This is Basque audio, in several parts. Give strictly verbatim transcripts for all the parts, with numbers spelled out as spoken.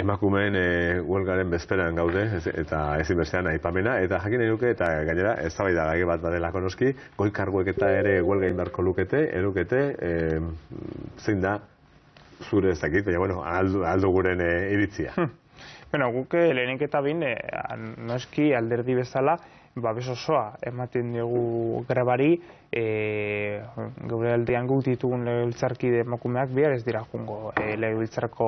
Emakumeen e, huelgaren bezperan gaude ez, eta ezin bestean aipamena eta jakin nahi nuke eta gainera eztabaida gai bat badelako noski goi karguek eta ere huelga egin beharko lukete, erukete e, zein da zure ez dakit, baina bueno, aldu, aldu guren e, iritzia. Hm. Bueno, guk lehenik eta bin e, noski alderdi bezala babes osoa ematen dugu grebari, e, geure aldean guk ditugun legebiltzarkide emakumeak bihar ez dira jungo e, legebiltzarko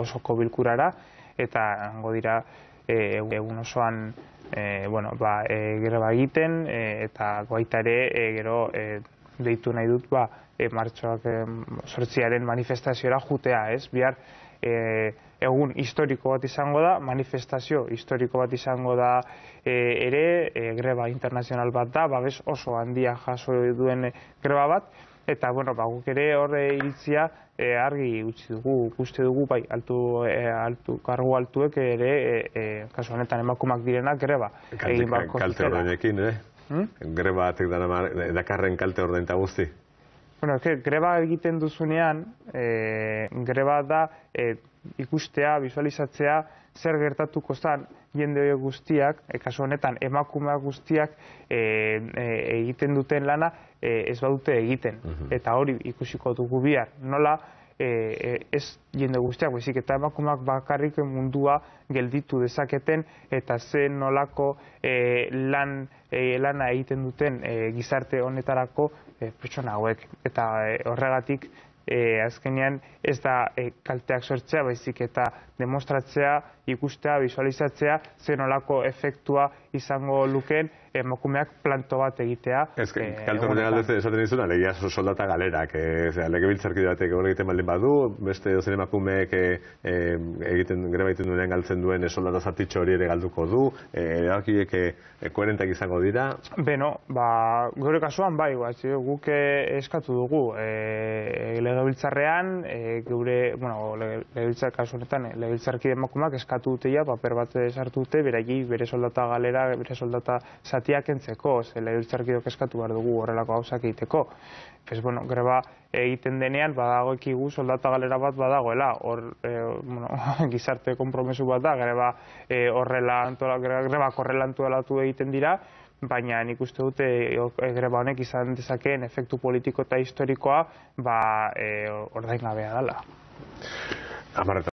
osoko bilkurara eta hango dira e, egun osoan e, bueno, ba, e, greba egiten e, eta baita ere e, gero e, deitu nahi dut ba, e, martxoak e, sortziaren manifestaziora jutea, ez? Bihar e, egun historiko bat izango da, manifestazio historiko bat izango da e, ere, e, greba internazional bat da, babes oso handia jaso duen greba bat, eta bueno, ba, guk ere horre iritzia e, argi utzi dugu, uste dugu, bai, altu, e, altu, kargu altuek ere, e, e, kasu honetan emakumak direnak greba. Kalte, kalte ordenekin, eh? Hmm? Greba batek dakarren kalte ordenta guzti? Bueno, greba egiten duzunean, e, greba da e, ikustea, visualizatzea, zer gertatuko zen jende horiek guztiak, e, kasu honetan emakumeak guztiak e, e, egiten duten lana e, ez badute egiten. Uh-huh. Eta hori ikusiko dugu bihar. Nola, e, e, ez jende guztiak, bezik eta emakumeak bakarrik mundua gelditu dezaketen eta ze nolako e, lan, e, lana egiten duten e, gizarte honetarako e, pertsona hauek. Eta e, horregatik E, azkenean ez da e, kalteak sortzea, baizik eta demostratzea, ikustea, visualizatzea, zen olako efektua izango lukeen emakumeak planto bat egitea. Ez que, e, kalte horretan aldez esaten dizuna, legia soldata galerak, e, legebiltzarkide batek egon egiten baldin badu, beste dozen emakumeek e, e, egiten, greba egiten duenean galtzen duen e, soldata zatitxo hori ere galduko du, e, erabakiek e, e, koherentak izango dira? Beno, ba, gure kasuan bai, bat, guk eskatu dugu, e, legebiltzarrean, e, geure, bueno, legebiltzar kasu honetan, legebiltzarkide emakumeak eskatu duteia, paper bat sartu dute, beraiei bere soldata galera, bere soldata zatiak entzeko, ze legebiltzarkideok eskatu behar dugu horrelako gauzak egiteko. Pues, bueno, greba egiten denean, badago ekigu soldata galera bat badagoela, hor, e, bueno, gizarte konpromesu bat da, greba e, horrela, antola, greba horrela antolatu egiten dira, baina nik uste dute e, greba honek izan dezakeen efektu politiko eta historikoa ba, e, ordaingabea dela.